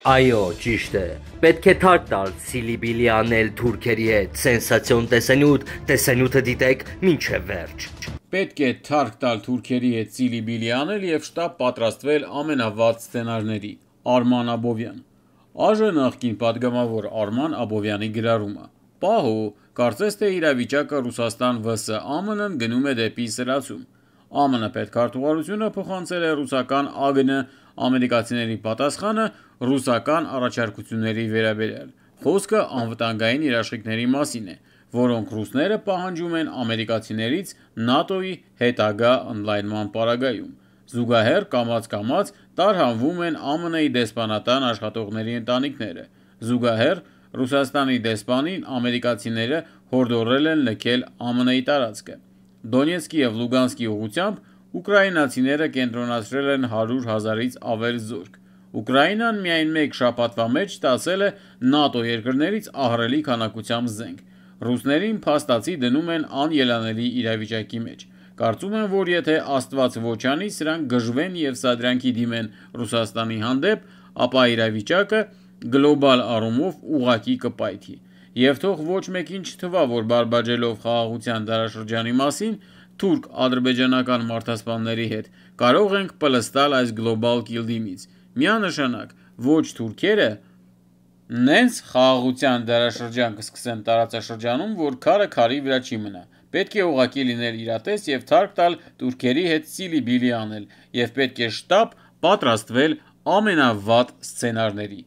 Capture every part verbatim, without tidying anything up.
Այո, ճիշտ է։ Պետք է թարք տալ Սիլիբիլի անել թուրքերի հետ, սենսացիոն տեսանյութ, տեսանյութը դիտեք մինչև վերջ։ Պետք է թարք տալ թուրքերի հետ Սիլիբիլի անել և շտապ պատրաստվել ամենավատ սցենարների։ Արման Աբովյան։ Աժ նախկին պատգամավոր Արման Աբովյանի գրառումը։ Պահո, կարծես թե իրավիճակը Ռուսաստան վս ԱՄՆ-ն գնում է դեպի սրացում։ ԱՄՆ պետքարտուղարությունը փոխանցել է ռուսական ԱԳՆ ամերիկացիների պատասխանը ռուսական առաջարկությունների վերաբերյալ։ Խոսքը անվտանգային երաշխիքների մասին է, որոնք ռուսները պահանջում են ամերիկացիներից ՆԱՏՕ-ի հետագա ընդլայնման պարագայում։ Զուգահեռ կամաց-կամաց տարհանվում են ԱՄՆ-ի դեսպանատան աշխատողների ընտանիքները։ Զուգահեռ Ռուսաստանի դեսպանին ամերիկացիները հորդորել են լքել ԱՄՆ-ի տարածքը։ Դոնեցկի և Լուգանսկի ուղղությամբ ուկրաինացիները կենտրոնացրել են հարյուր հազարից ավել զորք։ Ուկրաինան միայն մեկ շաբաթվա մեջ ստացել է ՆԱՏՕ երկրներից ահռելի քանակությամբ զենք։ Ռուսներին փաստացի դնում են անելանելի իրավիճակի մեջ։ Կարծում եմ, որ եթե Աստված ոչ անի, սրանք գժվեն և սադրանքի դիմեն Ռուսաստանի հանդեպ, ապա իրավիճակը գլոբալ առումով ուղղակի կպայթի։ Եվ թող ոչ մեկին չթվա, որ բարբաջելով խաղաղության դարաշրջանի մասին թուրք-ադրբեջանական մարդասպանների հետ կարող ենք պլստալ այս գլոբալ կիլդիմից։ Միանշանակ, ոչ թուրքերը նենց խաղաղության դարաշրջան կսկսեն տարածաշրջանում, որ քարը քարի վրա չի մնա։ Պետք է ուղղակի լինել իրատես և թարք տալ թուրքերի հետ Սիլիբիլի անել, և պետք է շտապ պատրաստվել ամենավատ սցենարների։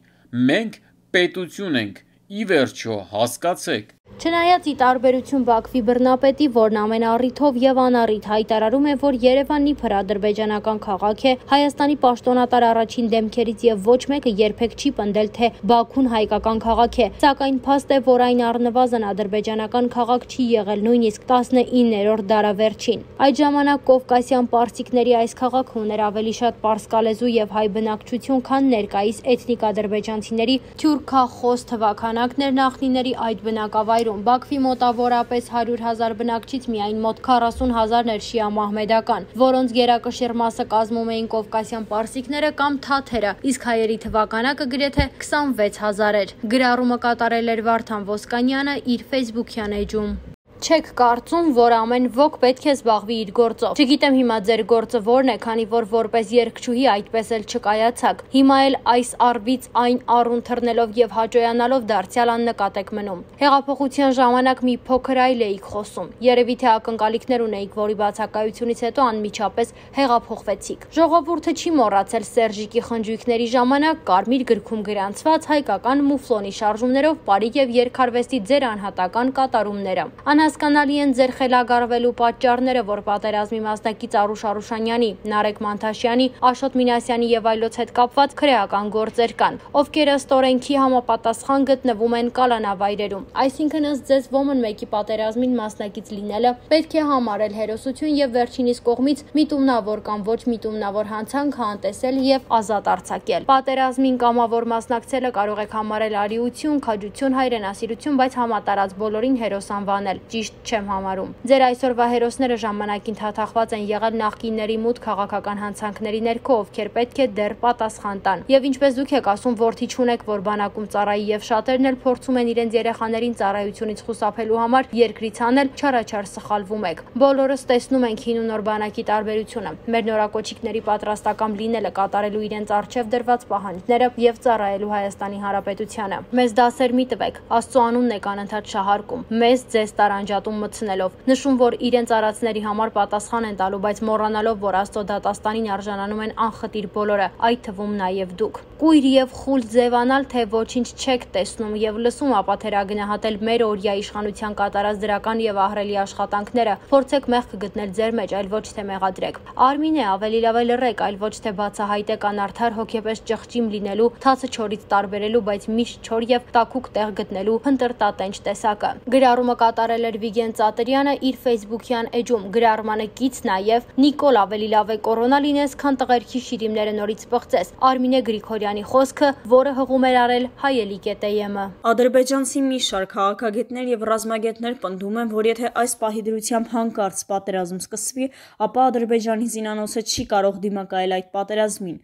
Մենք պետություն ենք, ի վերջո, հասկացեք։ Չնայած ի տարբերություն Բաքվի բռնապետի, որն ամեն առիթով և անառիթ հայտարարում է, որ Երևանն իբր ադրբեջանական քաղաք է, Հայաստանի պաշտոնատար առաջին դեմքերից և ոչ մեկը երբեք չի պնդել, թե Բաքուն հայկական քաղաք է, սակայն փաստ է, որ այն առնվազն ադրբեջանական քաղաք չի եղել նույնիսկ տասնիններորդ դարավերջին։ Այդ ժամանակ կովկասյան պարսիկների այս քաղաքը ուներ ավելի շատ պարսկալեզու և հայ բնակչություն, քան ներկայիս էթնիկ ադրբեջանցիների թյուրքախոս թվաքանակներ նախնիների այդ բնակավայրում։ Բաքվի մոտավորապես հարյուր հազար բնակչից միայն մոտ քառասուն հազարն էր շիա-մահմեդական, որոնց գերակշիռ մասը կազմում էին կովկասյան պարսիկները կամ թաթերը, իսկ հայերի թվականակը գրեթե քսանվեց հազար էր։ Գրառումը կատարել էր Վարդան Ոսկանյանը իր ֆեյսբուքյան էջում։ Չեք կարծում, որ ամեն ոք պետք է զբաղվի իր գործով։ Չգիտեմ հիմա ձեր գործը որն է, քանի որ որպես երգչուհի այդպես էլ չկայացաք։ Հիմա էլ այս առվից այն առուն թռնելով և հաճոյանալով դարձյալ աննկատ եք մնում։ Հեղափոխության ժամանակ մի փոքր այլ էիք խոսում։ Երևի թե ակնկալիքներ ունեիք, որի բացակայությունից հետո անմիջապես հեղափոխվեցիք։ Ժողովուրդը չի մոռացել Սերժիկի խնջույքների ժամանակ կարմիր գրքում գրանցված հայկական մուֆլոնի շարժումներով պարի և երգարվեստի ձեր անհատական կատարումները։ Հասկանալի են ձեր խելագարվելու պատճառները, որ պատերազմի մասնակից Արուշ Արուշանյանի, Նարեկ Մանթաշյանի, Աշոտ Մինասյանի և այլոց հետ կապված քրեական գործեր կան, ովքեր ըստ օրենքի համապատասխան գտնվում են կալանավայրերում։ Այսինքն ըստ ձեզ ոմն մեկի պատերազմին մասնակից լինելը պետք է համարել հերոսություն և վերջինիս կողմից միտումնավոր կամ ոչ միտումնավոր հանցանք անտեսել և ազատ արձակել։ Պատերազմին կամավոր մասնակցելը կարող եք համարել արիություն, քաջություն, հայրենասիրություն, բայց համատարած բոլորին հերոս անվանել ճիշտ չեմ համարում։ Ձեր այսօրվա հերոսները ժամանակին թաթախված են եղել նախկինների մութ քաղաքական հանցանքների ներքո, ովքեր պետք է դեռ պատասխան տան։ Եվ ինչպես դուք եք ասում, որդի չունեք, որ բանակում ծառայի, եւ շատերն էլ փորձում են իրենց երեխաներին ծառայությունից խուսափելու համար երկրից անել, չարաչար սխալվում եք։ Բոլորս տեսնում ենք հին ու նոր բանակի տարբերությունը։ Մեր նորակոչիկների պատրաստական լինելը, կատարելու իրենց առջև դրված պահանջները եւ ծառայելու Հայաստանի Հանրապետությանը։ Մեզ դասեր մի տվեք, Աստծո անունն եք անընդհատ շահարկում։ Մեզ ձեզ տարանջատում մտցնելով, նշում, որ իրենց արածների համար պատասխան են տալու, բայց մոռանալով, որ Աստծո դատաստանին արժանանում են անխտիր բոլորը, այդ թվում նաև դուք։ Կույր եւ խուլ ձևանալ, թե ոչինչ չեք տեսնում եւ լսում, ապա թերագնահատել մեր օրյա իշխանության կատարած դրական եւ ահռելի աշխատանքները, փորձեք մեղք գտնել ձեր մեջ, այլ ոչ թե մեղադրեք։ Արմին է, ավելի լավ է լռեք, այլ ոչ թե բացահայտեք անարդար հոգեպես ճղճիմ լինելու, թացը չորից տարբերելու, բայց միշտ չոր եւ տաքուկ տեղ գտնելու հնտրտատենչ տեսակը։ Գրառումը կատարել էր Վիգեն Ծատերյանը իր ֆեյսբուքյան էջում։ Գրառմանը կից նաև Նիկոլ ավելի լավ է կորոնա լինես, քան տղերքի շիրիմները նորից պղծես։ Արմինե Գրիգորյանի խոսքը, որը հղում էր արել Հայելիկ է Տե Ե Մ։ Ադրբեջանցի մի շարք քաղաքագետներ եւ ռազմագետներ պնդում են, որ եթե այս պահի դրությամբ հանկարծ պատերազմ սկսվի, ապա Ադրբեջանի զինանոցը չի կարող դիմակայել այդ պատերազմին։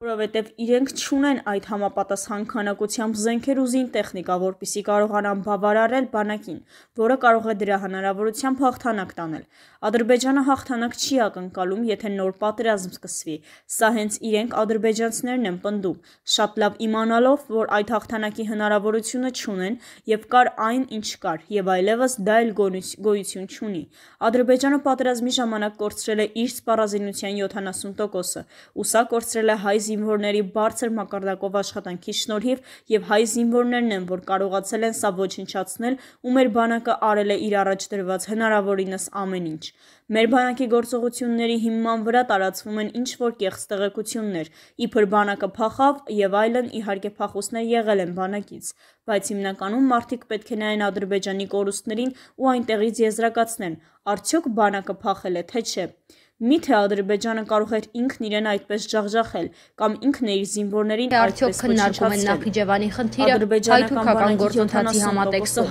որովհետև իրենք չունեն այդ համապատասխան քանակությամբ զենքեր ու զին տեխնիկա, որպեսզի կարողանան բավարարել բանակին, որը կարող է դրա հնարավորությամբ հաղթանակ տանել։ Ադրբեջանը հաղթանակ չի ակնկալում, եթե նոր պատերազմ սկսվի։ Սա հենց իրենք ադրբեջանցիներն են պնդում, շատ լավ իմանալով, որ այդ հաղթանակի հնարավորությունը չունեն եւ կար այն, ինչ կար, եւ այլևս դա էլ գոյություն չունի։ Ադրբեջանը պատերազմի ժամանակ կորցրել է իր սպառազինության յոթանասուն տոկոսը, ու սա կորցրել է հայ զինվորների բարձր մակարդակով աշխատանքի շնորհիվ եւ հայ զինվորներն են, որ կարողացել են սա ոչնչացնել ու մեր բանակը արել է իր առաջ դրված հնարավորինս ամեն ինչ։ Մեր բանակի գործողությունների հիման վրա տարածվում են ինչ որ կեղծ տեղեկություններ, իբր բանակը փախավ եւ այլն, իհարկե փախուստներ եղել են բանակից, բայց հիմնականում մարդիկ պետք է նայեն Ադրբեջանի կորուստներին ու այնտեղից եզրակացնեն, արդյոք բանակը փախել է թե չէ։ Միթե Ադրբեջանը կարող էր ինքն իրեն այդպես ջախջախել կամ ինքն իր զինվորներին այդպես քննարկում են Նախիջևանի խնդիրը հայ-թուրքական գործընթացի համատեքստում։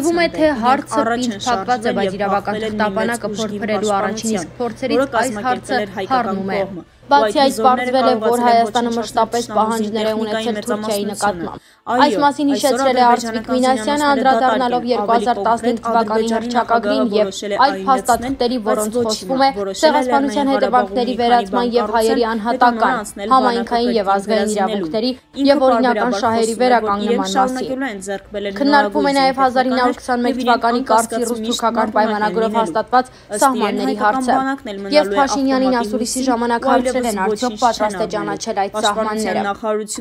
Թվում է, թե հարցը պինդ փակված է, բայց իրավական թղթապանակը փորփրելու առաջին իսկ փորձերից այս հարցը հառնում է։ Բացի այս, պարզվել է, որ Հայաստանը մշտապես պահանջներ է ունեցել Թուրքիայի նկատմամբ։ Այս մասին հիշեցրել է Արծվիկ Մինասյանը, անդրադառնալով երկու հազար տասնհինգ թվականի հռչակագրին եւ այլ փաստաթղթերի, որոնց խոսվում է ցեղասպանության հետևանքների վերացման եւ հայերի անհատական, համայնքային եւ ազգային իրավունքների եւ օրինական շահերի վերականգնման մասին։ Քննարկվում է նաեւ հազար ինը հարյուր քսանմեկ թվականի Կարծի ռուս-թուրքական պայմանագրով հաստատված սահմանների հարցը։ Եվ Փաշինյանին ասուլիսի ժամանակ հարցրել են արդյոք պատրաստ է ճանաչել այդ սահմանները։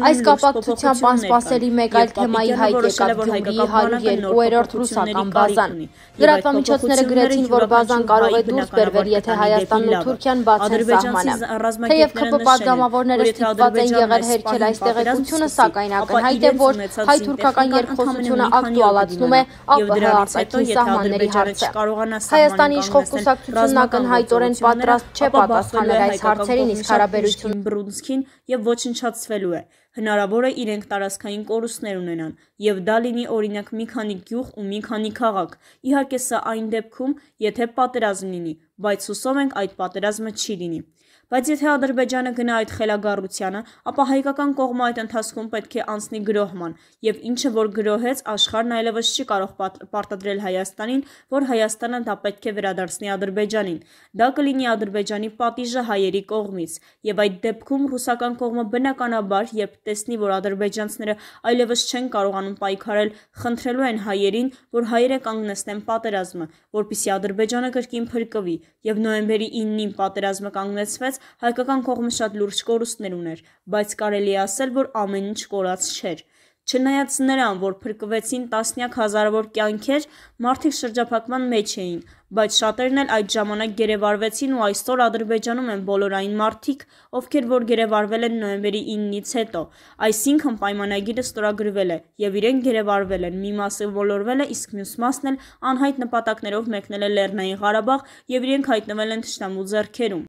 Այս կապակցությամբ անսպասելի մեկ այլ թեմայի հայտ եկավ Գյումրիի հարյուր երկու-րդ ռուսական բազան։ Լրատվամիջոցները գրեցին, որ բազան կարող է դուրս բերվել, եթե Հայաստանն ու Թուրքիան բացեն սահմանը։ Թեև ՔՊ պատգամավորները ստիպված են եղել հերքել այս տեղեկությունը, սակայն ակնհայտ է, որ հայ-թուրքական երկխոսությունը ակտուալացնում է ԱՊՀ արտաքին սահմանների հարցը։ Հայաստանի իշխող կուսակցությունն ակնհայտորեն պատրաստ չէ պատասխանել այս հարցերին, իսկ հարաբերություն Բրունսկին եւ ոչնչացվելու է։ Հնարավոր է իրենք տարածքային կորուստներ ունենան եւ դա լինի օրինակ մի քանի գյուղ ու մի քանի քաղաք։ Իհարկե սա այն դեպքում, եթե պատերազմ լինի, բայց հուսով ենք այդ պատերազմը չի լինի։ Բայց եթե Ադրբեջանը գնա այդ խելագարությանը, ապա հայկական կողմը այդ ընթացքում պետք է անցնի գրոհման, եւ ինչը որ գրոհեց, աշխարհն այլևս չի կարող պարտադրել Հայաստանին, որ Հայաստանը դա պետք է վերադարձնի Ադրբեջանին։ Դա կլինի Ադրբեջանի պատիժը հայերի կողմից, եւ այդ դեպքում ռուսական կողմը բնականաբար, երբ տեսնի, որ ադրբեջանցիները այլևս չեն կարողանում պայքարել, խնդրելու են հայերին, որ հայերը կանգնեցնեն պատերազմը, որպեսզի Ադրբեջանը կրկին փրկվի, եւ նոյեմբերի իննին պատերազմը կանգնեցվեց, հայկական կողմը շատ լուրջ կորուստներ ուներ, բայց կարելի է ասել, որ ամեն ինչ կորած չէր։ Չնայած նրան, որ փրկվեցին տասնյակ հազարավոր կյանքեր, մարդիկ շրջափակման մեջ էին, բայց շատերն էլ այդ ժամանակ գերեվարվեցին ու այսօր Ադրբեջանում են բոլոր այն մարդիկ, ովքեր որ գերեվարվել են նոյեմբերի իննից հետո։ Այսինքն պայմանագիրը ստորագրվել է եւ իրենք գերեվարվել են, մի մասը ոլորվել է, իսկ մյուս մասն էլ անհայտ նպատակներով մեկնել է Լեռնային Ղարաբաղ եւ իրենք հայտնվել են թշնամու ձեռքերում։